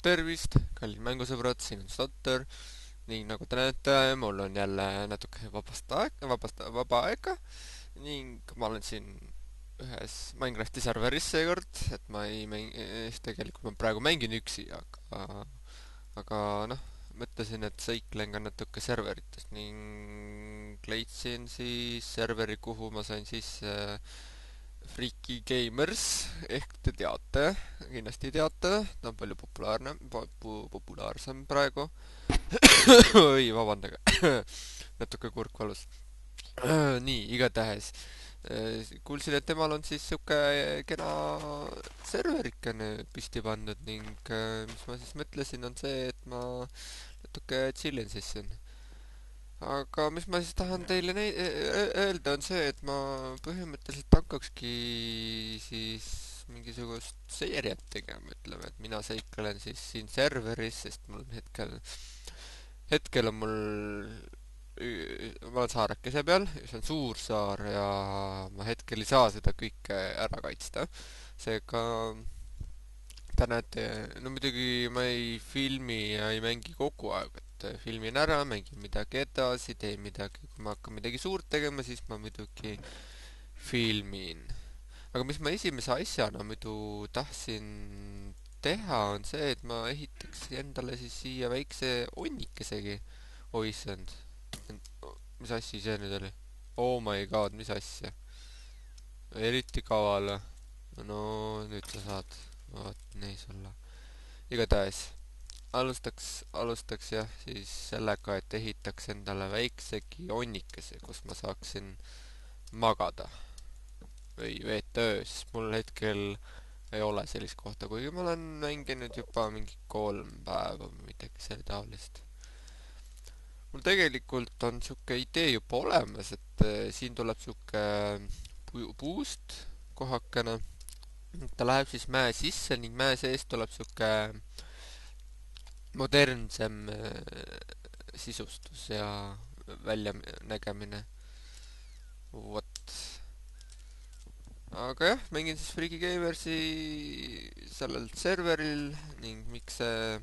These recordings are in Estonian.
Tervist, kallid mängusõbrad, siin on Stotter ning nagu te näete, mul on jälle natuke vaba aega ning ma olen siin ühes Minecrafti serveris seekord, et ma ei mängi, tegelikult ma praegu mängin üksi, aga noh, mõtlesin, et sõiklen ka natuke serveritest ning leidsin siis serveri, kuhu ma sain sisse Freaky Gamers, ehk te teate, kindlasti teate, ta on palju populaarsem praegu. oi, vabandage, natuke kurk valus. nii, igatahes kuulsin, et temal on siis sihuke kena serverikene püsti pandud ning mis ma siis mõtlesin, on see, et ma natuke chillin siis siin. aga mis ma siis tahan teile öelda, on see, et ma põhimõtteliselt hakkakski siis mingisugust seeriat tegema, ütleme, et mina seiklen siis siin serveris, sest mul hetkel on mul ma olen saarekese peal, see on suur saar ja ma hetkel ei saa seda kõike ära kaitsta. seega te näete, no muidugi ma ei filmi ja ei mängi kogu aeg, et filmin ära, mängin midagi edasi, teen midagi, kui ma hakkan midagi suurt tegema, siis ma muidugi filmin. aga mis ma esimese asjana muidu tahtsin teha, on see, et ma ehitaks endale siis siia väikse onnikesegi. oissand, mis asi see nüüd oli? Oh my god, mis asja? eriti kaval. no nüüd sa saad, vaat nii sulle. igatahes alustaks jah siis sellega, et ehitaks endale väiksegi onnikese, kus ma saaksin magada või veeta öö, sest mul hetkel ei ole sellist kohta, kuigi ma olen mänginud juba mingi 3 päeva või midagi selle taolist. mul tegelikult on sihuke idee juba olemas, et siin tuleb sihuke puust kohakene. ta läheb siis mäe sisse ning mäe sees tuleb sihuke modernsem sisustus ja väljanägemine. vot. aga jah, mängin siis Freaky Gamersi sellel serveril ning miks see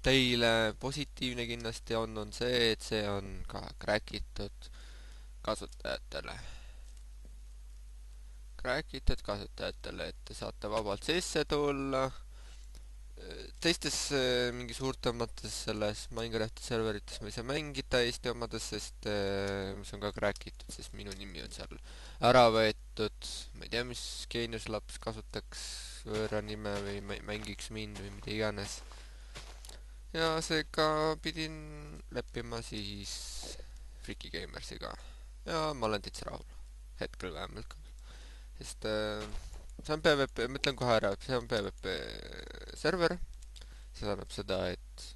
teile positiivne kindlasti on see, et see on ka crack itud kasutajatele. Crack itud kasutajatele, et te saate vabalt sisse tulla. teistes mingi suurtemates selles Minecrafti serverites ma ei saa mängida, Eesti omades, sest mis on ka crack itud, sest minu nimi on seal ära võetud. ma ei tea, mis geeniuslaps kasutaks võõra nime või mängiks mind või mida iganes. ja seega pidin leppima siis Freaky Gamersiga ja ma olen täitsa rahul, hetkel vähemalt, sest see on PvP, ma ütlen kohe ära, see on PvP server. see tähendab seda, et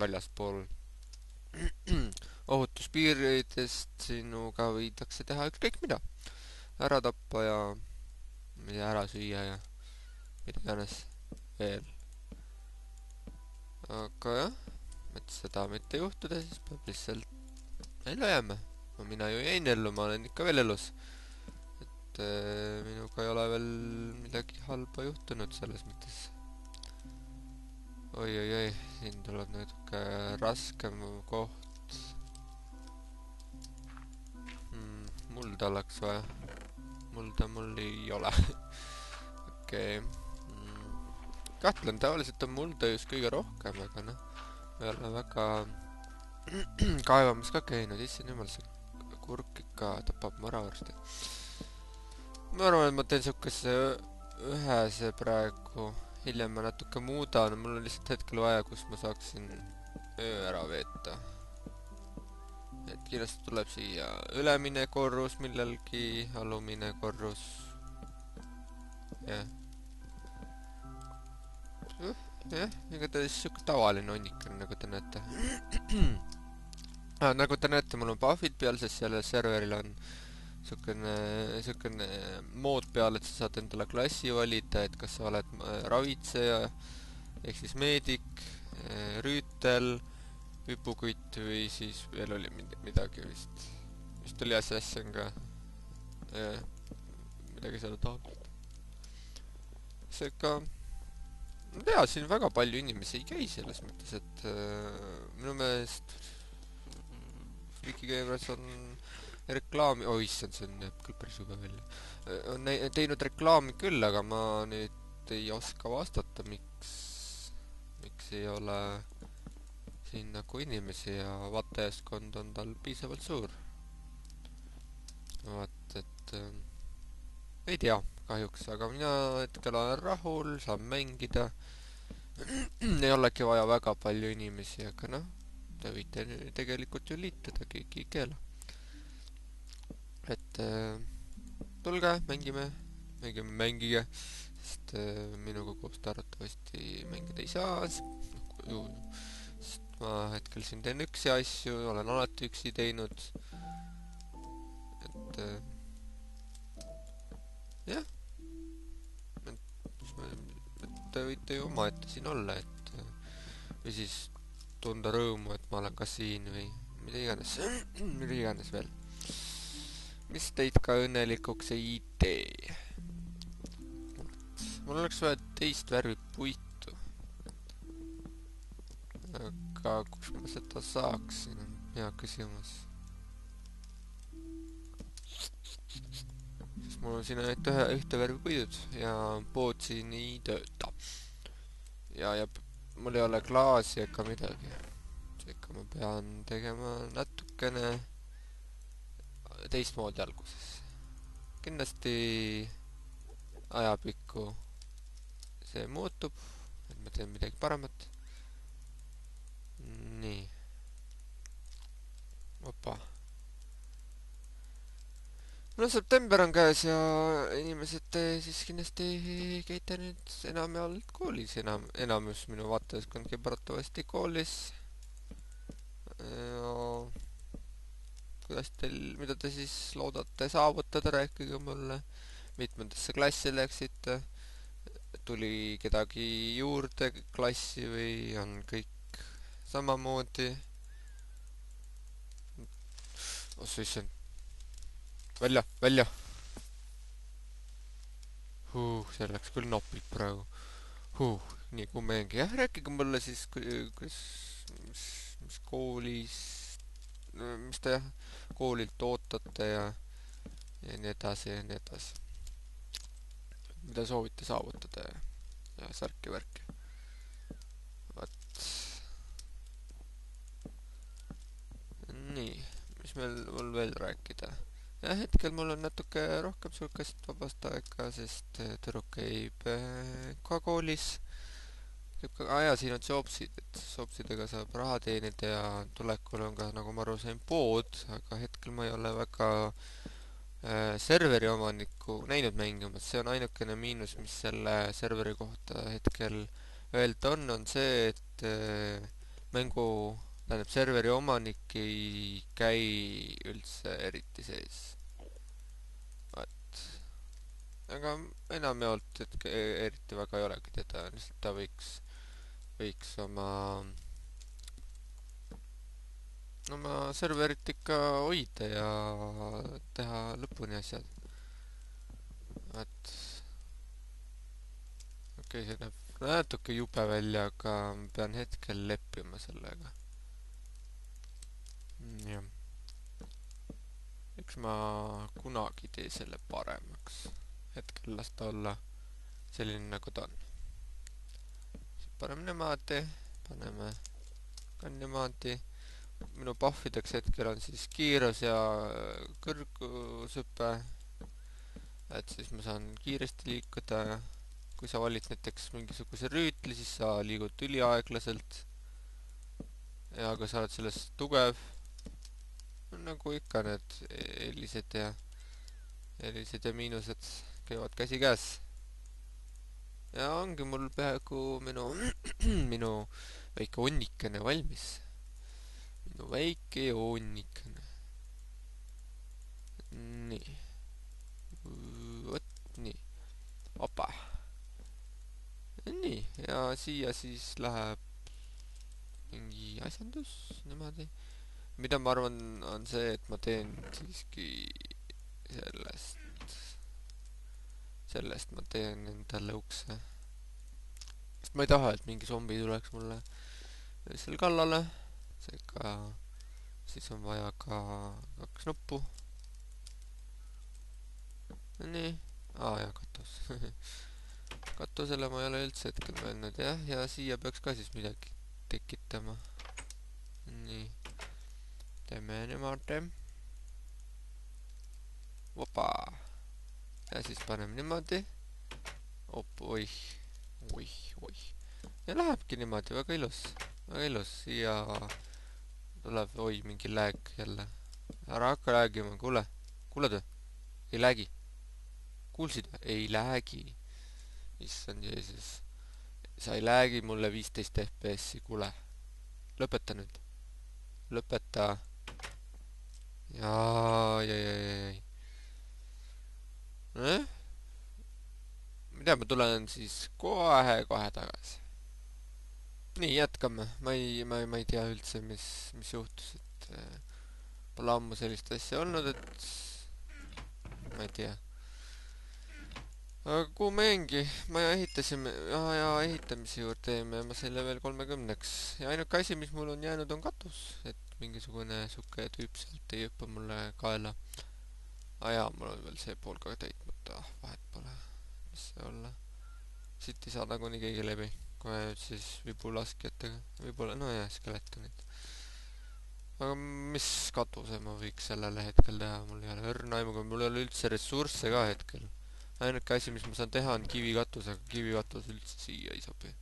väljaspool ohutuspiiridest sinuga võidakse teha ükskõik mida, ära tappa ja mida ära süüa ja mida iganes veel. aga jah, et seda mitte juhtuda, siis peab lihtsalt ellu jääma. no mina ju jäin ellu, ma olen ikka veel elus. et minuga ei ole veel midagi halba juhtunud selles mõttes. oi, siin tuleb natuke raskem koht. mulda oleks vaja. mulda mul ei ole. okei. kahtlen, tavaliselt on mulda just kõige rohkem, aga noh, ma ei ole väga kaevamas ka käinud, issand jumal, see kurk ikka tapab mu ära varsti. ma arvan, et ma teen siukese ühese praegu, hiljem ma natuke muudan, mul on lihtsalt hetkel vaja, kus ma saaksin öö ära veeta. et kindlasti tuleb siia ülemine korrus millelgi, alumine korrus. jah, igatahes siuke tavaline onnik on, nagu te näete. nagu te näete, mul on buffid peal, sest sellel serveril on siukene mood peal, et sa saad endale klassi valida, et kas sa oled ravitseja ehk siis meedik, rüütel, hüpukutt või siis veel oli midagi vist oli assassin ka, midagi selle taolist. seega ma tean, siin väga palju inimesi ei käi selles mõttes, et minu meelest Vikigamers on reklaami, oi issand, see näeb küll päris jube välja. On teinud reklaami küll, aga ma nüüd ei oska vastata, miks ei ole siin nagu inimesi ja vaatajaskond on tal piisavalt suur. vaat, et ei tea, kahjuks, aga mina hetkel olen rahul, saan mängida. ei olegi vaja väga palju inimesi, aga noh, te võite tegelikult ju liituda, keegi ei keela. Et tulge, mängige, sest minuga koos te arvatavasti mängida ei saa, sest ma hetkel siin teen üksi asju, olen alati üksi teinud, et jah, et te võite ju omaette siin olla, et või siis tunda rõõmu, et ma olen ka siin või mida iganes, mida iganes veel. mis teid ka õnnelikuks ei tee. mul oleks vaja teist värvi puitu. aga kus ma seda saaksin, on hea küsimus. sest mul on siin ainult ühte värvi puidud ja pood siin ei tööta. ja mul ei ole klaasi ega midagi. seega ma pean tegema natukene teistmoodi alguses. kindlasti ajapikku see muutub, et ma teen midagi paremat. nii. opa. no september on käes ja inimesed siis kindlasti käite nüüd enamjaolt koolis, enamus minu vaatajaskond käib arvatavasti koolis. kuidas teil, mida te siis loodate saavutada, rääkige mulle. mitmendasse klassi läksite, tuli kedagi juurde klassi või on kõik samamoodi? oh issand, välja. see läks küll napilt praegu. nii kui mängige, jah, rääkige mulle siis, kuidas, mis koolis, mis te jah, koolilt ootate ja nii edasi ja nii edasi. mida soovite saavutada ja särki-värki. vot. nii, mis mul veel rääkida? jah, hetkel mul on natuke rohkem sihukest vabast aega, sest tüdruk käib ka koolis. siin on Jobsid, et Jobsidega saab raha teenida ja tulekul on ka, nagu ma aru sain, pood, aga hetkel ma ei ole väga serveri omanikku näinud mängimas. see on ainukene miinus, mis selle serveri kohta hetkel öelda on see, et tähendab, serveri omanik ei käi üldse eriti sees. vaat. aga enamjaolt, et eriti väga ei olegi teda, lihtsalt ta võiks oma serverit ikka hoida ja teha lõpuni asjad. et okei, see näeb natuke jube välja, aga ma pean hetkel leppima sellega. jah. eks ma kunagi tee selle paremaks. hetkel las ta olla selline, nagu ta on. paneme niimoodi. minu buffideks hetkel on siis kiirus ja kõrgushüpe, et siis ma saan kiiresti liikuda. kui sa valid näiteks mingisuguse rüütli, siis sa liigud üliaeglaselt. ja kui sa oled selles tugev, nagu ikka need eelised ja miinused käivad käsikäes. ja ongi mul peaaegu minu väike onnikene valmis. minu väike onnikene. nii. vot nii. opa. nii, ja siia siis läheb mingi asjandus niimoodi. mida ma arvan, on see, et ma teen siiski sellest ma teen endale ukse. sest ma ei taha, et mingi zombi tuleks mulle seal kallale. seega siis on vaja ka 2 nuppu. nii. Jaa, katus. katusele ma ei ole üldse hetkel mõelnud, jah, ja siia peaks ka siis midagi tekitama. nii, teeme niimoodi. Opa. ja siis paneme niimoodi. oih, oih, oih. ja lähebki niimoodi, väga ilus. väga ilus, siia tuleb, mingi lääg jälle. ära hakka läägima, kuule. kuuled või? ei läägi. kuulsid või? ei läägi. issand Jeesus. sa ei läägi mulle 15 FPS-i, kuule. lõpeta nüüd. lõpeta. jaa. mida, ma tulen siis kohe tagasi. nii, jätkame. ma ei tea üldse, mis juhtus, et pole ammu sellist asja olnud, et ma ei tea. aga kuhu me jäingi? maja ehitasime, ja ehitamise juurde jäime ja ma sain level 30-ks ja ainuke asi, mis mul on jäänud, on katus, et mingisugune suke tüüp sealt ei hüppa mulle kaela. jaa, mul on veel see pool ka täitmata, vahet pole, mis see olla. siit ei saa nagunii keegi läbi, kohe nüüd siis vibulaskjatega, võib-olla, nojah, skeletonid. aga mis katuse ma võiks sellele hetkel teha, mul ei ole õrna aimu, mul ei ole üldse ressursse ka hetkel. ainuke asi, mis ma saan teha, on kivikatus, aga kivikatus üldse siia ei sobi.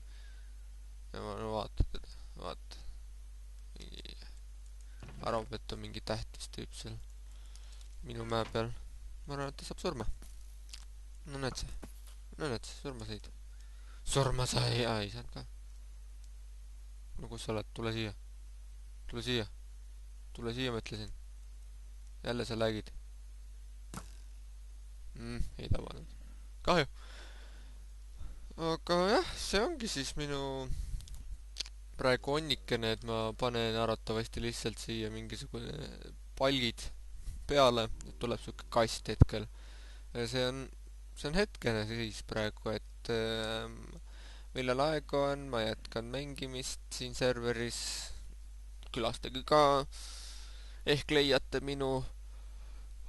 ja ma vaatan teda, vaata. mingi, arvab, et on mingi tähtis tüüp seal minu mäe peal. ma arvan, et ta saab surma. no näed sa, surma said. surma sai, ei saanud ka. no kus sa oled, tule siia. tule siia, ma ütlesin. jälle sa lagid. ei tabanud. kahju. aga jah, see ongi siis minu praegu onnikene, et ma panen arvatavasti lihtsalt siia mingisugune palgid peale, et tuleb siuke kast hetkel. ja see on hetkene siis praegu, et millal aega on, ma jätkan mängimist siin serveris. külastage ka, ehk leiate minu,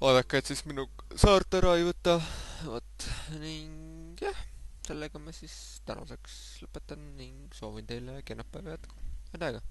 vaadake, et siis minu saart ära ei võta. vot, ning jah, sellega ma siis tänaseks lõpetan ning soovin teile kenat päeva jätku. head aega!